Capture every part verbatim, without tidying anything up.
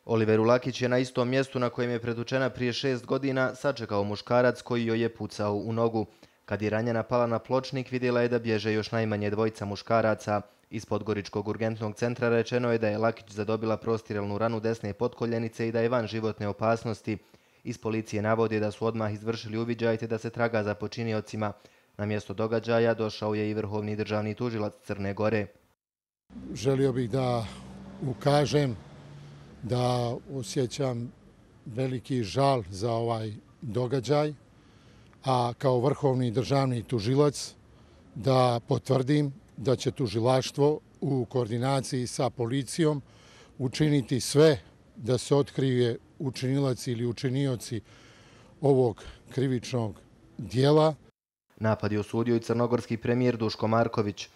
Oliveru Lakić je na istom mjestu na kojem je pretučena prije šest godina sačekao muškarac koji joj je pucao u nogu. Kad je ranjena pala na pločnik, vidjela je da bježe još najmanje dvojica muškaraca. Iz Podgoričkog urgentnog centra rečeno je da je Lakić zadobila prostirelnu ranu desne potkoljenice i da je van životne opasnosti. Iz policije navode da su odmah izvršili uviđaj te da se traga za počiniocima. Na mjesto događaja došao je i vrhovni državni tužilac Crne Gore. Želio bih da ukažem da osjećam veliki žal za ovaj događaj, a kao vrhovni državni tužilac da potvrdim da će tužilaštvo u koordinaciji sa policijom učiniti sve da se otkrije učinilac ili učinioci ovog krivičnog dijela. Napad je osudio i crnogorski premijer Duško Marković.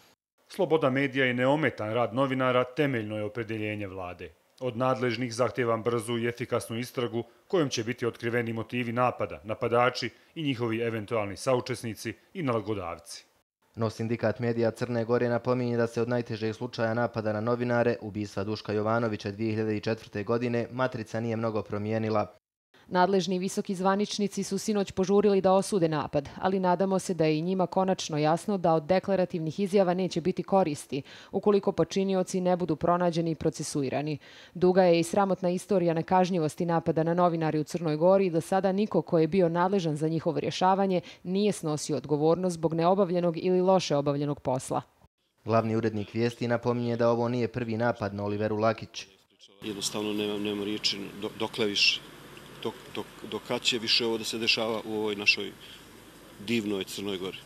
Sloboda medija i neometan rad novinara temeljno je opredjeljenje vlade. Od nadležnih zahtjevam brzu i efikasnu istragu kojom će biti otkriveni motivi napada, napadači i njihovi eventualni saučesnici i nalagodavci. No sindikat medija Crne Gore napominje da se od najtežeg slučaja napada na novinare, ubistva Duška Jovanovića dvije hiljade četvrte. godine, matrica nije mnogo promijenila. Nadležni visoki zvaničnici su sinoć požurili da osude napad, ali nadamo se da je i njima konačno jasno da od deklarativnih izjava neće biti koristi, ukoliko počinioci ne budu pronađeni i procesuirani. Duga je i sramotna istorija nekažnjivosti napada na novinari u Crnoj Gori i do sada niko ko je bio nadležan za njihovo rješavanje nije snosio odgovornost zbog neobavljenog ili loše obavljenog posla. Glavni urednik Vijesti napominje da ovo nije prvi napad na Oliveru Lakić. Jednostavno nemam, nemam riječi dokle više. Dok, dok, dok kad će više ovo da se dešava u ovoj našoj divnoj Crnoj Gori.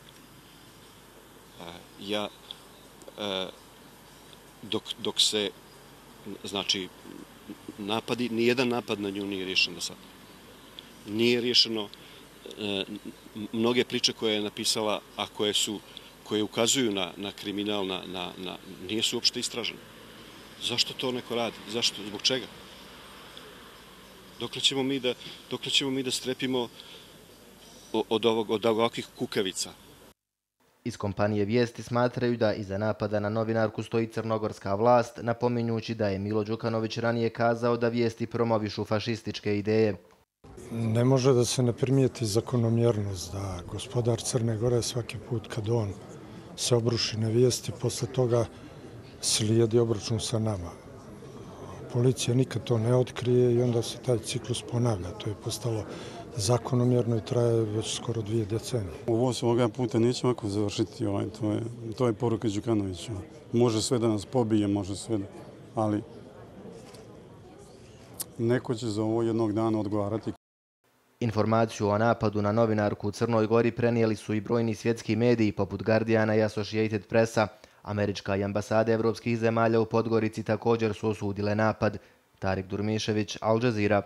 Ja, dok, dok se, znači, napadi, nijedan napad na nju nije riješen do sada. Nije riješeno mnoge priče koje je napisala, a koje su, koje ukazuju na, na kriminal, na, na, na, nije su uopšte istražene. Zašto to neko radi? Zašto? Zbog čega? Dokle ćemo mi da, dokle ćemo mi da strepimo od, ovog, od ovakvih kukavica? Iz kompanije Vijesti smatraju da iza napada na novinarku stoji crnogorska vlast, napominjući da je Milo Đukanović ranije kazao da Vijesti promovišu fašističke ideje. Ne može da se ne primijeti zakonomjernost da gospodar Crne Gore svaki put kad on se obruši na Vijesti, posle toga slijedi obračun sa nama. Policija nikad to ne otkrije i onda se taj ciklus ponavlja. To je postalo zakonomjerno i traje već skoro dvije decenije. Ovo se ovoga puta neće ovako završiti. Ovaj, to, je, to je poruka Đukanovića. Može sve da nas pobije, može sve da... Ali neko će za ovo jednog dana odgovarati. Informaciju o napadu na novinarku u Crnoj Gori prenijeli su i brojni svjetski mediji poput Guardiana i Associated Pressa. Američka i ambasade evropskih zemalja u Podgorici također su osudile napad. Tarik Durmišević, Al Jazeera.